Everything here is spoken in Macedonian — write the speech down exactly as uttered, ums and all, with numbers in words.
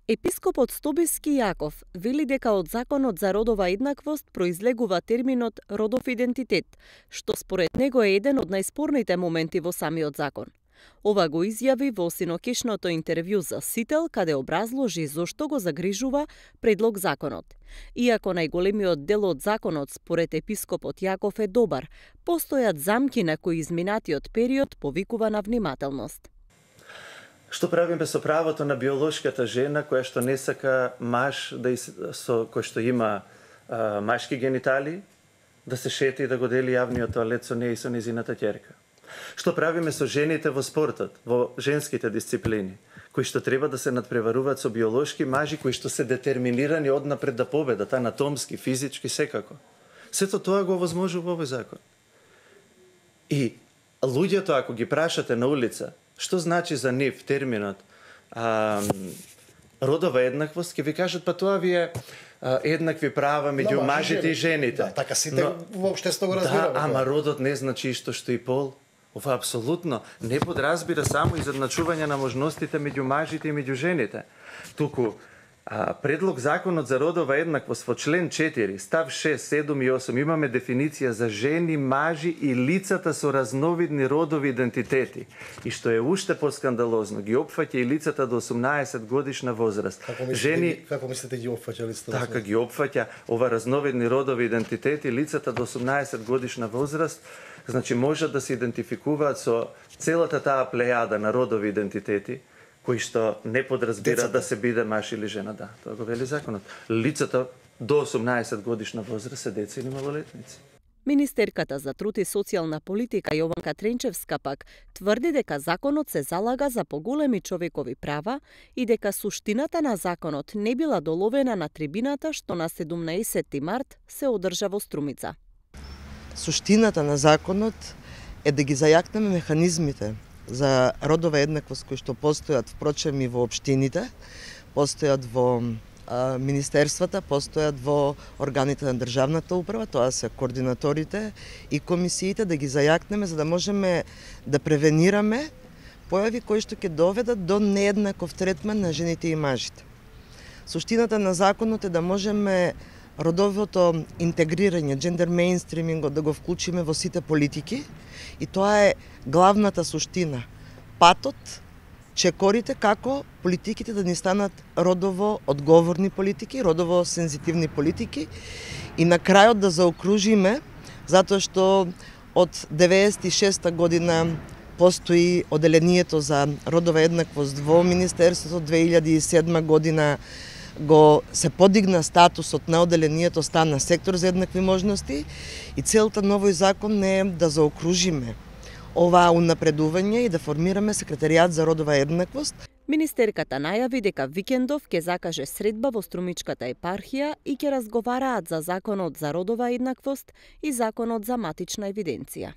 Епископот Стобиски Јаков вели дека од Законот за родова еднаквост произлегува терминот родов идентитет, што според него е еден од најспорните моменти во самиот закон. Ова го изјави во синокишното интервју за Сител, каде образложи зошто го загрижува предлог законот. Иако најголемиот дел од законот според епископот Јаков е добар, постојат замки на кои изминатиот период повикува на внимателност. Што правиме со правото на биолошката жена која што не сака маж да из... со кој што има а, машки генитали да се шети и да го дели јавниот тоалет со неја и со незината ќерка? Што правиме со жените во спортот, во женските дисциплини, кои што треба да се надпреваруваат со биолошки мажи кои што се детерминирани однапред да победат, анатомски, физички, секако? Сето тоа го овозможува овој закон. И луѓето, ако ги прашате на улица, што значи за нив терминот а, родова еднаквост, ќе ви кажат, па тоа ви е а, еднакви права меѓу no, мажите и жените. Да, така сите Но, воопштество го разбираме. Да, ама родот не значи исто што и пол. Ова апсолутно не подразбира само изедначување на можностите меѓу мажите и меѓу жените. Туку а, предлог законот за родова еднаквост во член четири, став шест, седум и осум имаме дефиниција за жени, мажи и лицата со разновидни родови идентитети. И што е уште поскандалозно, ги опфаќа и лицата до осумнаесет годишна возраст. Како мислите, жени како мислите ги опфаќа лицата? Така ги опфаќа ова разновидни родови идентитети, лицата до осумнаесет годишна возраст. Значи можат да се идентификуваат со целата таа плејада на родови идентитети, кои што не подразбира да се биде маж или жена, да, тоа го вели законот. Лицата до осумнаесет годишна возраст се деца или малолетници. Министерката за труд и социјална политика Јованка Тренчевска пак тврди дека законот се залага за поголеми човекови права и дека суштината на законот не била доловена на трибината што на седумнаесетти март се одржа во Струмица. Суштината на законот е да ги зајакнеме механизмите за родова еднаквост кои што постојат впрочем и во општините, постојат во а, министерствата, постојат во органите на државната управа, тоа се координаторите и комисиите, да ги зајакнеме за да можеме да превенираме појави кои што ќе доведат до нееднаков третман на жените и мажите. Суштината на законот е да можеме родовото интегрирање, джендер мејнстримингот да го вклучиме во сите политики и тоа е главната суштина. Патот, чекорите како политиките да ни станат родово одговорни политики, родово сензитивни политики и на крајот да заокружиме, затоа што од деветдесет и шеста година постои оделението за родова еднаквост во Министерството, две илјади и седма година го се подигна статусот на оделението, стана сектор за еднакви можности и целта на овој закон не е да заокружиме оваа унапредување и да формираме секретаријат за родова еднаквост. Министерката најави дека викендов ќе закаже средба во Струмичката епархија и ќе разговараат за законот за родова еднаквост и законот за матична евиденција.